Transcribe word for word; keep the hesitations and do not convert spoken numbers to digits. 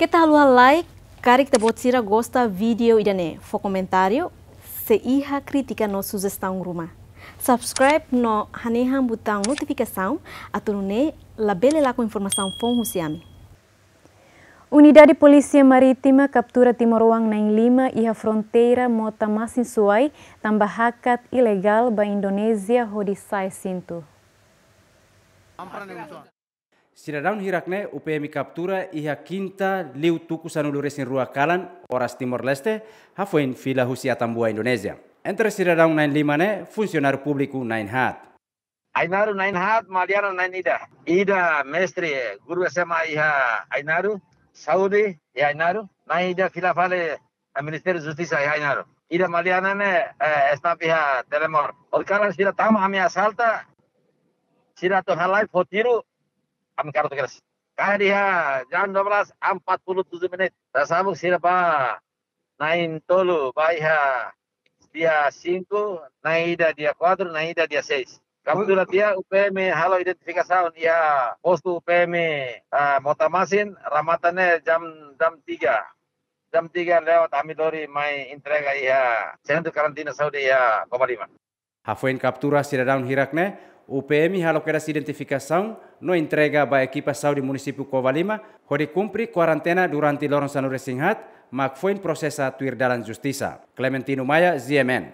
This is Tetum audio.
Keta haluha like, karik ita-boot sira gosta vídeo ida-ne'e, fó komentáriu, se iha krítika no sujestaun ruma. Subscribe no hanehan butaun notifikasaun, atu nune'e labele lakon informasaun foun husi ami. Unidade Polísia Marítima kaptura timoroan na'in-lima iha fronteira Motamasin-Suai, tanba hakat ilegál ba Indonézia hodi sa'e sintu. Sidadaun hirak ne'e U P M kaptura iha kinta liu tuku sanulu-resin-rua kalan, oras Timor-Leste, hafoin fila husi Atambua, Indonézia. Entre sidadaun na'in-lima ne'e, funsionáriu públiku na'in-haat. Ainaro na'in-haat, Maliana na'in-ida. Ida mestre, guru S M A iha Ainaro, saúde iha Ainaro. Na'in-ida fila fali, eh, Ministériu Justisa iha Ainaro. Ida Maliana ne'e, eh, staf iha Telemor. Hori kalan sira tama ami asalta, sira atu halai fó tiru, ami kartu keras. Kaer iha jam dua belas empat puluh tujuh menit. Tasabuk sira ba na'in-tolu ba iha dia cinco, na'in-ida dia quatro, na'in-ida dia seis. Kaptura tiha, U P M halo identifikasaun iha postu U P M, ah, Motamasin, remata ne'e jam, jam tiga. Jam tiga lewat ami lori mai entrega iha sentru karantina saúde iha Covalima. Hafoin kaptura sidadaun hirak ne'e, U P M halo kedas identifikasaun no entrega ba ekipa saúde munisípiu Covalima, hodi kumpre kuarentena durante loron sanulu-resin-haat, mak foin prosesa tuir dalan justisa. Clementino Maia, G M N.